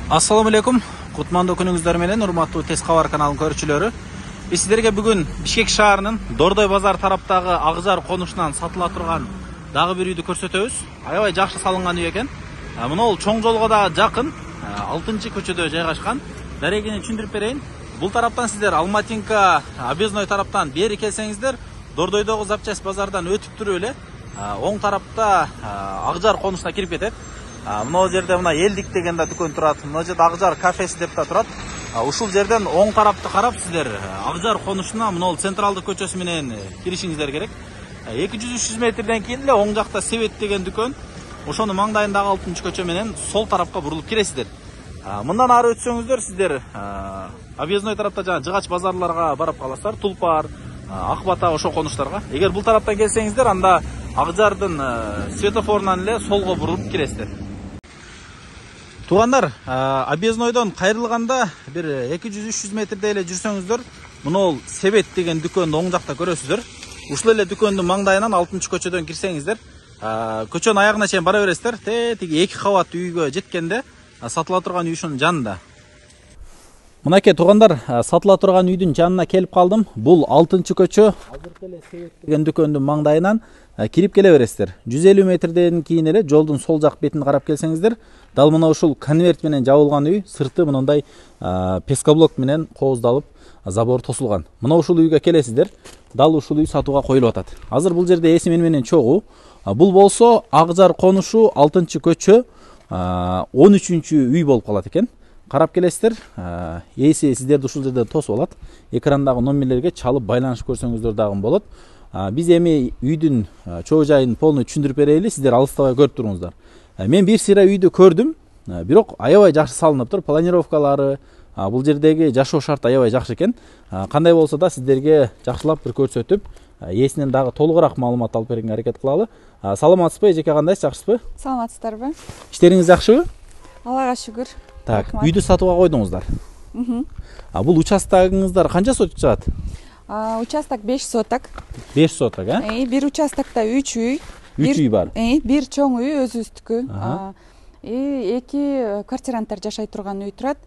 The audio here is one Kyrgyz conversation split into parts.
Assalamu alaikum. Кутмандуу күнүңүздөр менен урматтуу Тез кабар каналынын көрүүчүлөрү. Биз сиздерге бүгүн Бишкек шаарынын Дордой базар тараптагы Акжар конушунан сатыла турган дагы бир үйдү көрсөтөбүз. Аябай жакшы салынган үй экен. Мына чоң жолго да жакын, 6-көчөдө жайгашкан. Дарегини түшүндүрүп берейин. Бул тараптан сиздер Алматинка объездной тараптан бери келсеңиздер, Дордойдогу запчасть базардан өтүп туруп эле оң тарапта Акжар конушуна кирип кетет. Мына жерде мына Элдик деген да дүкөн турат. Мына жерде Акжар кафеси деп да турат. Ушул жерден оң тарапты карап сиздер Акжар конушуна мына централдык көчөсү менен киришиңиздер керек. 200-300 метрден кийин эле оң жакта Себет деген дүкөн. Ошонун маңдайындагы 6-көчө менен сол тарапка бурулуп киресиздер. Мындан ары өтсөңүздөр сиздер объездной тарапта жана жыгач базарларга барып каласыздар. Тулпар, Акбата ошол конуштарга. Эгер бул тараптан келсеңиздер, анда Акжардын светофорунан эле солго бурулуп киресиздер. Туугандар, объезднойдон кайрылганда бир 200-300 метрдей эле жүрсөңүздөр, мына Себет деген дүкөндү оң жакта көрөсүздөр. Ушул эле дүкөндүн маңдайынан 6-көчөдөн кирсеңиздер, көчөнүн аягына чейин бара бересиздер. Тиги 2 кабаттуу үйгө жеткенде сатыла турган үй ушунун жанында. Мынакей туугандар, сатыла турган үйдүн жанына келип калдым. Бул 6-көчө, азыркы эле Себет деген дүкөндүн маңдайынан кирип келе бересиздер. 150 метрден кийин эле жолдун сол жак бетин карап келсеңиздер, дал мына ушул конверт менен жабылган үй, сырты мындай пескоблок менен кооздалып, забор тосулган. Мына ушул үйгө келесиздер. Дал ушул үй сатууга коюлуп атат. Азыр бул жерде эси менен чогуу. Бул болсо Акжар конушу 6-көчө 13-үчү үй болуп калат экен. Карап келесиздер. Эси сиздерди ушул жерде тосуп алат. Экрандагы номерлерге чалып байланышып көрсөңүздөр дагы болот. Биз эми үйдүн чоо жайын полный түшүндүрүп берели, сиздер алыстабай көрүп туруңуздар. Мен бир сыйра үйдү көрдүм, бирок аябай жакшы салынып тур, планировкалары, бул жердеги жашоо шарты аябай жакшы экен. Кандай болсо да сиздерге жакшылап бир көрсөтүп, ээсинен дагы толугураак маалымат алып берүүгө аракет кылалы. Саламатсызбы, эжеке, кандайсыз, жакшысызбы? Саламатсыздарбы? Иштериңиз жакшыбы? Аллага шүгүр. Так, үйдү сатууга койдуңуздар. Бул участогуңуздар канча соток чыгат? Участок 5 соток. 5 соток, Бир участокто 3 үй. 3 үй бар. Бир чоң үй өзүбүздүкү. 2 квартиранттар жашай турган үй турат.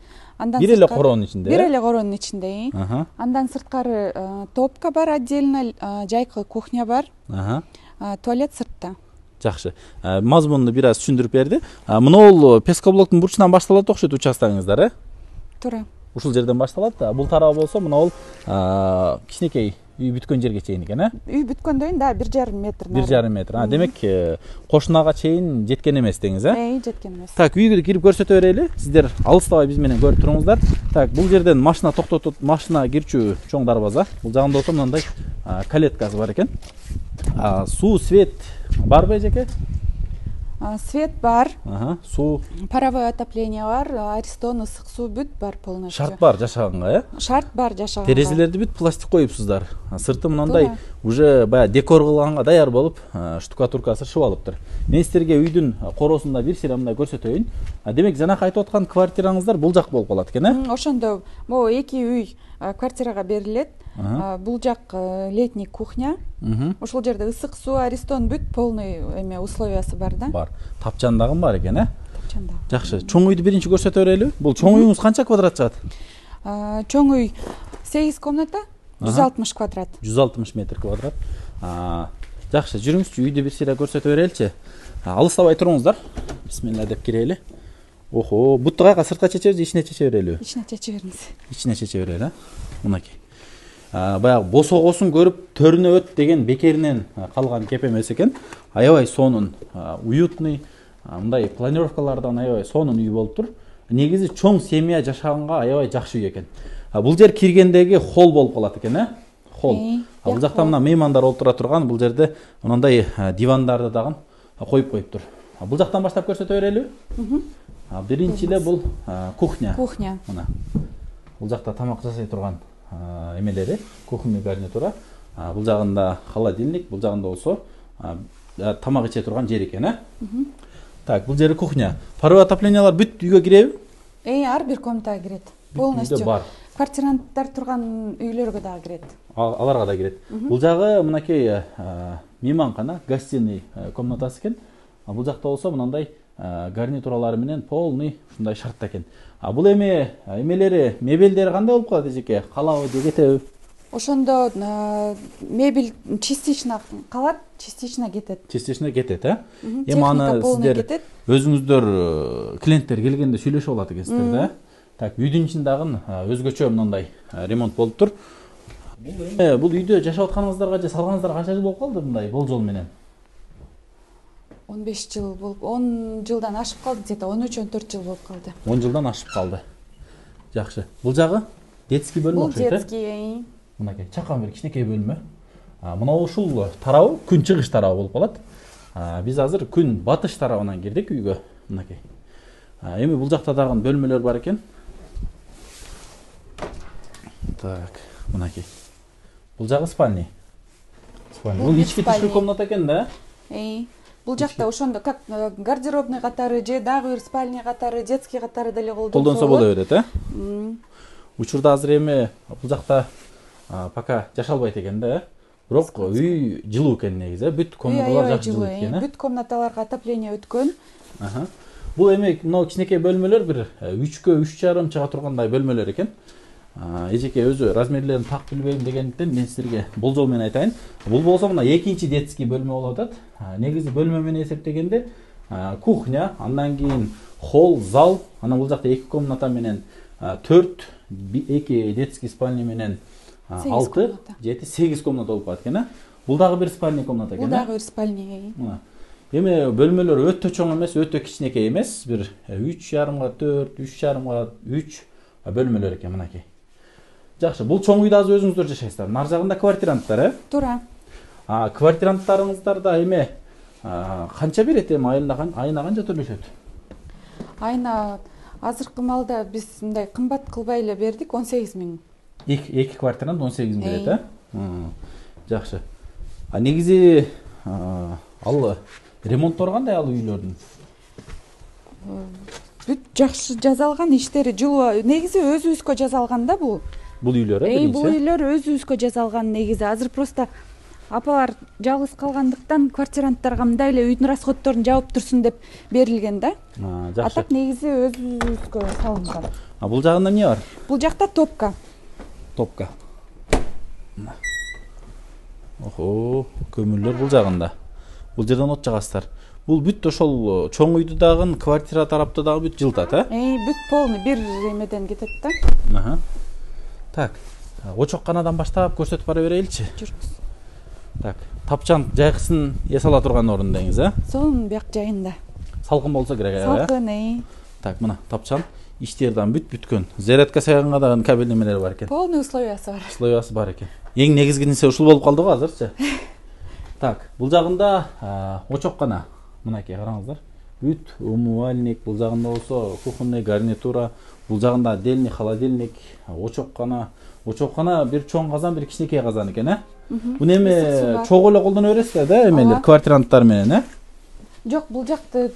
Бир эле короонун ичинде. Бир эле короонун ичинде. Андан сырткары топка бар отдельно, жайкы кухня бар. Туалет сыртта. Жакшы. Мазмунду бир аз түшүндүрүп берди. Мына пескоблоктун бурчунан башталат окшойт участогуңуздар, Туура. Ушул жерден башталат. Бул тарабы болсо мына кичинекей үй бүткөн жерге чейин экен, Үй бүткөндөн кийин да 1,5 метр. 1,5 метр. Демек, кошунага чейин жеткен эмес деңиз, жеткен эмес. Так, үйгө кирип көрсөтө берели. Сиздер алыстабай биз менен көрүп туруңуздар. Так, бул жерден машина токтотуп, машина кирчү чоң дарбаза. Бул жагында болсо мындай калеткасы бар экен. Суу, свет барбы, эжеке? Свет бар. Суу. Паровое отопление бар, Аристон ысык суу бүт бар полностью. Шарт бар жашаганга, Шарт бар жашаганга. Терезелерди бүт пластик коюпсуздар. Сырты мындай уже баягы декор кылганга даяр болуп, штукатуркасы шып алыптыр. Мен сиздерге үйдүн короосунда бир сыйра мындай көрсөтөйүн. Демек, жанакы айтып аткан квартираңыздар бул жак болуп калат экен, Ошондо могу 2 үй квартирага берилет. Бул жак летний кухня. Ошол жерде ысык суу, Аристон бүт полный условиясы бар да. Бар. Тапчан дагы бар экен, Тапчан дагы. Жакшы. Чоң үйдү биринчи көрсөтө берели. Бул чоң үйүңүз канча квадрат чыгат? Чоң үй 8 комната, 160 квадрат. 160 метр квадрат. Жакшы, жүрүңүзчү, үйдү бир сыйра көрсөтө береличи. Алыстабай туруңуздар. Бисмилла деп кирели. Охо, бутты кайга, сыртка чечебиз, ичине чече берелиби? Ичине чече бериңиз. Ичине чече берели, Мынакей. Баягы босогосун көрүп төрүнө өт деген бекеринен калган кеп эмес экен. Аябай сонун, уютный, мындай планировкалардан аябай сонун үй болуп тур. Негизи чоң семья жашаганга аябай жакшы үй экен. Бул жер киргендеги холл болуп калат экен, Холл. Бул жакта мына меймандар олтура турган, бул жерде мындай дивандарды дагы коюп коюптур. Бул жактан баштап көрсөтө берелиби? Биринчи эле бул кухня. Кухня. Мына. Бул жакта тамак жасай турган эмелери, кухонный гарнитура. Бул жагында холодильник, бул жагында болсо тамак иче турган жер экен, Так, бул жери кухня. Паровое отоплениялар бүт үйгө киреби? Ар бир комнатага кирет. Полностью. Квартиранттар турган үйлөргө дагы кирет. Аларга да кирет. Бул жагы мынакей мейманкана, гостиный комнатасы экен. Бул жакта болсо мындай гарнитуралары менен полный ушундай шартта экен. Бул эмелери, мебелдери кандай болуп калат эжеке? Калабы же кетеби? Ошондо мебель частично калат, частично кетет. Частично кетет, э? Эми аны сиздер өзүңүздөр клиенттер келгенде сүйлөшүп алат экенсиздер да. Так, үйдүн ичинде дагы өзгөчө мындай ремонт болуптур. Бул үйдө жашап атканыңыздарга же салганыңыздарга канча жыл болуп калды мындай болжол менен? 15 жыл болуп, 10 жылдан ашып калды, где-то 13-14 жыл болуп калды. 10 жылдан ашып калды. Жакшы. Бул жагы детский бөлмө окшойт, э? Бул детский. Мынакей чакан бир кичинекей бөлмө. Мына ушул тарабы күн чыгыш тарабы болуп калат. Биз азыр күн батыш тарабынан кирдик үйгө. Мынакей. Эми бул жакта дагы бөлмөлөр бар экен. Так, мынакей. Бул жагы спальня. Бул ички тышкы комната экен да? Бул жакта ошондо как гардеробный катары же дагы бир спальня катары, детский катары деле колдонсо боло берет, э? Учурда азыр эми бул жакта пока жашалбайт экен да, э? Бирок үй жылуу экен негизи, бүт комнаталар жакшы жылуу экен, э? Бүт комнаталарга отопление өткөн. Бул эми мына кичинекей бөлмөлөр бир 3кө 3,5 чыга тургандай бөлмөлөр экен. Эжеке өзү размерлерин так билбейм дегендиктен мен силерге болжол менен айтайын. Бул болсо мына экинчи детский бөлмө болуп атат. Негизи бөлмө менен эсептегенде кухня, андан кийин холл, зал, анан бул жакта 2 комната менен 4, 2 детский спальня менен 6, 7, 8 комната болуп калат экен, э? Бул дагы бир спальня комната экен, э? Бул дагы бир спальня. Эми бөлмөлөр өтө чоң эмес, өтө кичинекей эмес, бир 3,5 4, 3,5 3 бөлмөлөр экен мынакей. Жакшы, бул чоң үйдө азыр өзүңүздөр жашайсыздар. Нар жагында квартиранттар, э? Туура. Квартиранттарыңыздарда эми канча берет эми айына канча төлөшөт? Айына азыркы маалда биз мындай кымбат кылбай эле бердик, 18 000. Эки квартирант 18 000 берет, э? Жакшы. Негизи ал ремонттору кандай ал үйлөрдүн? Бүт жакшы жасалган, иштери жылуу. Негизи өзүбүзгө жасалган да бул. Бул үйлөр, э? Бул үйлөр өзүбүзгө жасалган негизи. Азыр просто апалар жалгыз калгандыктан квартиранттарга мындай эле үйдүн расходторун жаап турсун деп берилген да. Жакшы. А так негизи өзүбүзгө салынган. Бул жагында эмне бар? Бул жакта топка. Топка. Охо, көмүрлөр бул жагында. Бул жерден от жагасыздар. Бул бүт ошол чоң үйдү дагы, квартира тарапты дагы бүт жылтат, э? Бүт полный бир эмеден кетет да. Так, очокканадан баштап көрсөтүп бара береличи. Жүрүңүз. Так, тапчан жайкысын эс ала турган орундайыңыз, э? Сонун бияк жайында. Салкын болсо керек, э? Салкын, Так, мына тапчан иштерден бүткөн. Зарядка сайганга дагы кабель немелери бар экен. Полный условиясы бар. Условиясы бар экен. Эң негизгиси ушул болуп калды го азырчы. Так, бул жагында очоккана. Мынакей караңыздар. Бүт умывальник, бул жагында болсо кухонный гарнитура, бул жагында отдельный холодильник, очоккана. Очоккана бир чоң казан, бир кичинекей казан экен, э? Буну эми чогуу эле колдоно бересиздер да, эмелер, квартиранттар менен, э? Жок, бул жакты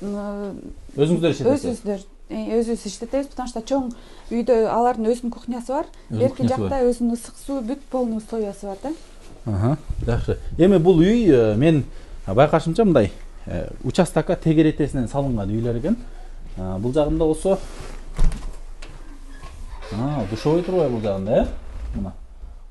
өзүңүздөр иштетесиз. Өзүбүз иштетебиз, потому что чоң үйдө алардын өзүнүн кухнясы бар. Берки жакта өзүнүн ысык суу, бүт полный условиясы бар да. Жакшы. Эми бул үй мен байкашымча мындай участокко тегеретесинен салынган үйлөр экен. Бул жагында болсо душевой турбай бул жагында, э? Мына.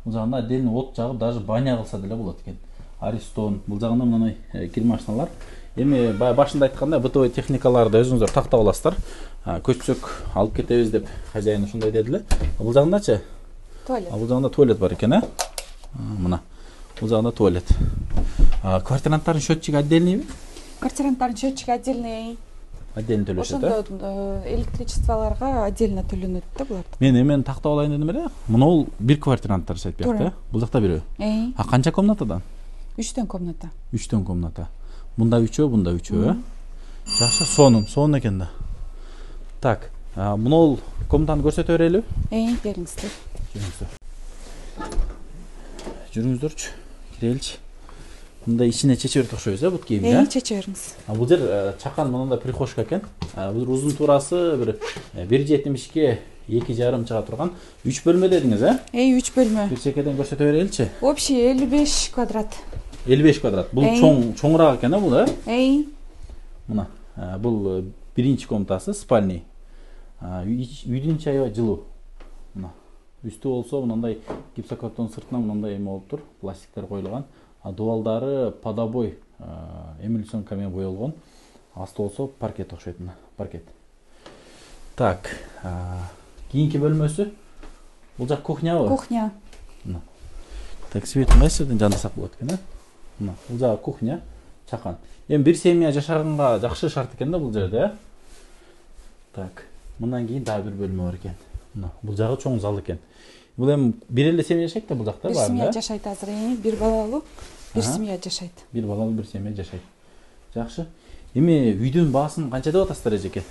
Бул жагында отдельный от жагып, даже баня кылса деле болот экен. Аристон, бул жагында мындай кир машиналар. Эми башында айткандай бытовой техникаларды өзүңүздөр тактап аласыздар. Көчсөк алып кетебиз деп хозяин ушундай дедиле. Бул жагындачы? Туалет. Бул жагында туалет бар экен, э? Мына. Бул жагында туалет. Квартиранттардын счетчиги отдельныйбы? Квартиранттардын счетчиги отдельный. Отдельно төлөшөт, э? Ошондо электричестволорго отдельно төлөнөт да булар. Мен эмен тактап алайын дедим эле. Мына бир квартиранттар жашайт биякта, э? Бул жакта бирөө. Канча комнатадан? 3 комната. 3 комната. Мында 3, бунда 3, э? Жакшы, сонун экен да. Так, мына комнатаны көрсөтө берелиби? Бериңиздер. Жүрүңүздөрчү. Киреличи. Мында ичине чече берип окшойбуз, бут кийим, э? Чече бериңиз. Бул жер чакан мындай прихожка экен. Бул узун турасы бир 1,70ге 2,5 чыга турган 3 бөлмө дедиңиз, э? 3 бөлмө. Бир чекеден көрсөтө береличи. Общий 55 квадрат. 55 квадрат. Бул чоңураак экен, бул, э? Мына. Бул биринчи комнатасы спальный. Үйдүн ичи аябай жылуу. Мына үстү болсо мындай гипсокартон сыртынан мындай эме болуп тур, пластиктер коюлган. Дубалдары подобой эмульсионка менен боелгон. Асты болсо паркет окшойт, мына паркет. Так, кийинки бөлмөсү. Бул жак кухнябы? Кухня. Мына. Так, светін кайсы жерден жандасак болот экен, Мына, бул жагы кухня, чакан. Эми бир семья жашаганга жакшы шарт экен да бул жерде, Так, мындан кийин дагы бир бөлмө бар экен. Мына, бул жагы чоң зал экен. Бул эми бир эле семья жашайт да бул жакта, бир семья жашайт азыр, бир балалуу бир семья жашайт. Бир балалуу бир семья жашайт. Жакшы. Эми үйдүн баасын канча деп атасыздар эжеке?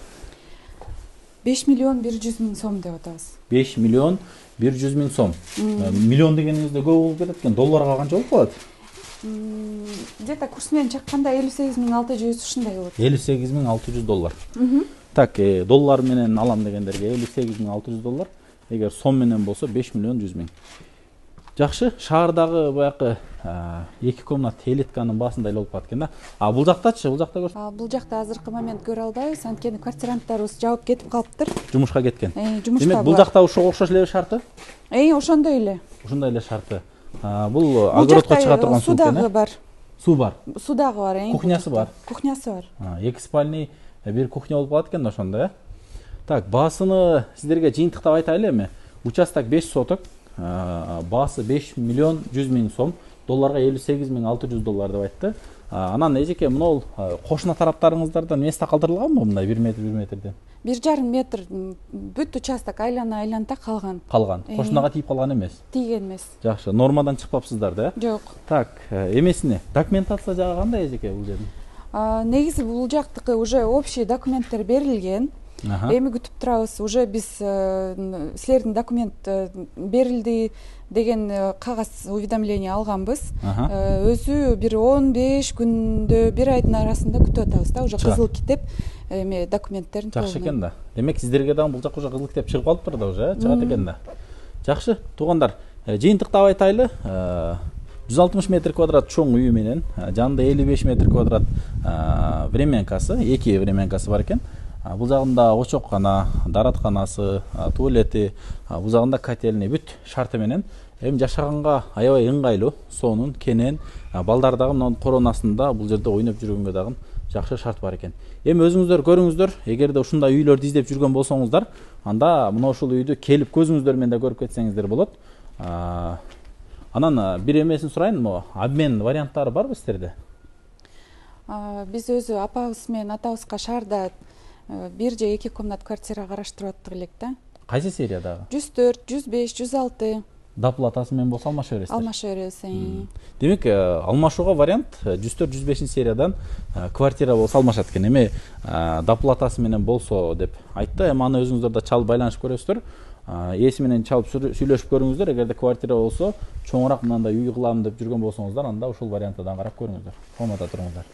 5 миллион 100 миң сом деп атабыз. 5 миллион 100 миң сом. Миллион дегенибизде көп болуп кетет экен. Долларга канча болуп калат? Где-то курс менен чакканда 58.600 ушундай болот. 58.600 доллар. Так, доллар менен алам дегендерге 58.600 доллар. Эгер сом менен болсо 5 миллион 100 миң. Жакшы, шаардагы баягы 2 комнат элитканын баасында эле болуп калат экен да. Бул жактачы, бул жакта көрсөт. Бул жакта азыркы момент көрө албайбыз, анткени квартиранттарыбыз жабып кетип калыптыр. Жумушка кеткен. Жумушта. Демек, бул жакта ошого окшош эле шарты? Ошондой эле. Ошондой эле шарты. Бул огородко чыга турган суу экен. Суу дагы бар. Суу бар. Суу дагы бар, Кухнясы бар. Кухнясы бар. 2 спальный, бир кухня болуп калат экен да ошондо, Так, баасыны сиздерге жыйынтыктап айтайлы эми. Участок 5 соток, баасы 5 миллион 100 миң сом, долларга 58.600 доллар деп айтты. Анан эжеке мынау кошуна тараптарыңыздардан место калтырылганбы мындай 1 метрден? 1,5 метр бүт участок айлана калган. Кошунага тийип калган эмес. Тийген эмес. Жакшы, нормадан чыкпапсыздар да? Жок. Так, эмесине документация жагы кандай эжеке бул жердин? Негизи бул жактыкы уже общий документтер берилген. Эми күтүп турабыз. Уже биз силердин документ берилди деген кагаз уведомление алганбыз. Өзү бир 15 күндө, бир айдын арасында күтүп атабыз да, уже кызыл китеп эми документтерин жакшы экен да. Демек сиздерге дагы бул жак уже кызыл китеп чыгып калыптыр да уже, чыгат экен да. Жакшы, туугандар, жыйынтыктап айтайлы. 160 метр квадрат чоң үй менен, жанында 55 метр квадрат временкасы, 2 временкасы бар экен. Бул жагында очоккана, даратканасы, туалети, бул жагында котельный бүт шарты менен эми жашаганга аябай ыңгайлуу, сонун, кенен, балдар дагы мынун коронасында бул жерде ойноп жүргөнгө дагы жакшы шарт бар экен. Эми өзүңүздөр көрүңүздөр, эгерде ушундай үйлөрдү издеп жүргөн болсоңуздар, анда мына ушул үйдү келип көзүңүздөр менен да көрүп кетсеңиздер болот. Анан бир эмесин сурайынбы? Обмен варианттары барбы сиздерде? Биз өзү апабыз менен атабызга шаарда 1 же 2 комнат квартира караштырып аттык элек да. Кайсы сериядагы? 104, 105, 106. Доплатасы менен болсо алмаша бересиздер. Алмаша беребиз. Демек, алмашууга вариант 104-105 сериядан квартира болсо алмашат экен. Эми доплатасы менен болсо деп айтты. Эми аны өзүңүздөр да чалып байланышып көрөсүздөр. Ээси менен чалып сүйлөшүп көрүңүздөр. Эгерде квартира болсо, чоңураак мындай үй кылам деп жүргөн болсоңуздар, анда ушул варианттан карап көрүңүздөр. Комната туруңуздар.